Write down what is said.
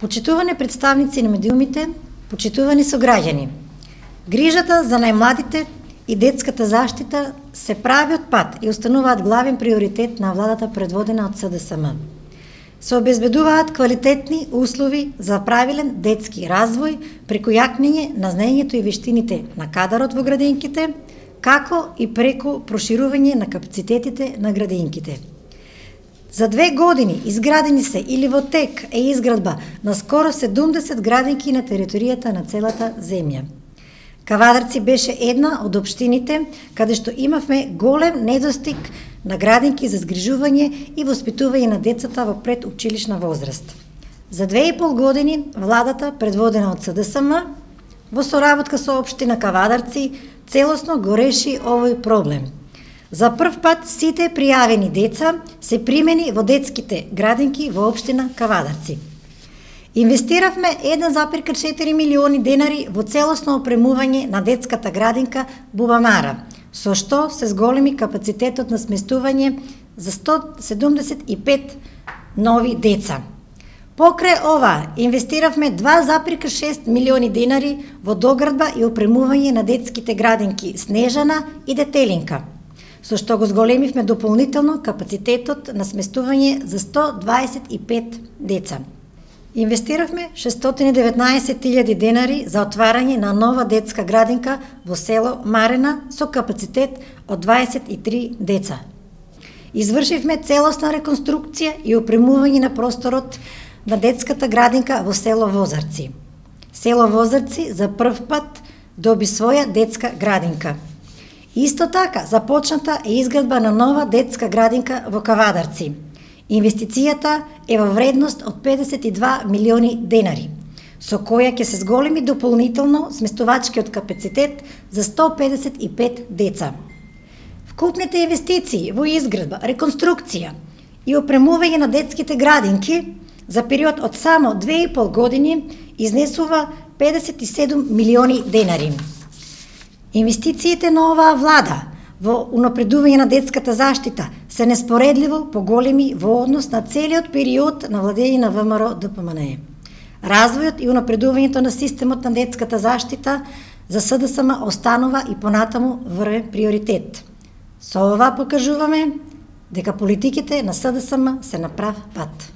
Почитувани представници на медиумите, почитувани сограѓани. Грижата за најмладите и детската заштита се прави од пат и остануваат главен приоритет на владата предводена од СДСМ. Се обезбедуваат квалитетни услови за правилен детски развој преку јакнење на знаењето и вештините на кадарот во градинките, како и преку проширување на капацитетите на градинките. За 2 години изградени се или во тек е изградба на скоро 70 градинки на територијата на целата земја. Кавадарци беше една од општините каде што имавме голем недостиг на градинки за згрижување и воспитување на децата во предучилишна возраст. За 2,5 години владата, предводена од СДСМ, во соработка со општина Кавадарци, целосно го реши овој проблем. За прв пат сите пријавени деца се примени во детските градинки во општина Кавадарци. Инвестиравме 1,4 милиони денари во целосно опремување на детската градинка Бубамара, со што се зголеми капацитетот на сместување за 175 нови деца. Покрај ова, инвестиравме 2,6 милиони денари во доградба и опремување на детските градинки Снежана и Детелинка, со што го зголемивме дополнително капацитетот на сместување за 125 деца. Инвестиравме 619.000 денари за отварање на нова детска градинка во село Марена со капацитет од 23 деца. Извршивме целосна реконструкција и опремување на просторот на детската градинка во село Возарци. Село Возарци за прв пат доби своја детска градинка. Исто така започната е изградба на нова детска градинка во Кавадарци. Инвестицијата е во вредност од 52 милиони денари, со која ќе се зголеми дополнително сместувачкиот капацитет за 155 деца. Вкупните инвестиции во изградба, реконструкција и опремување на детските градинки за период од само 2,5 години изнесува 57 милиони денари. Инвестициите на оваа влада во унапредување на детската заштита се неспоредливо поголеми во однос на целиот период на владење на ВМРО ДПМНЕ. Развојот и унапредувањето на системот на детската заштита за СДСМ останува и понатаму врвен приоритет. Со ова покажуваме дека политиките на СДСМ се на прав пат.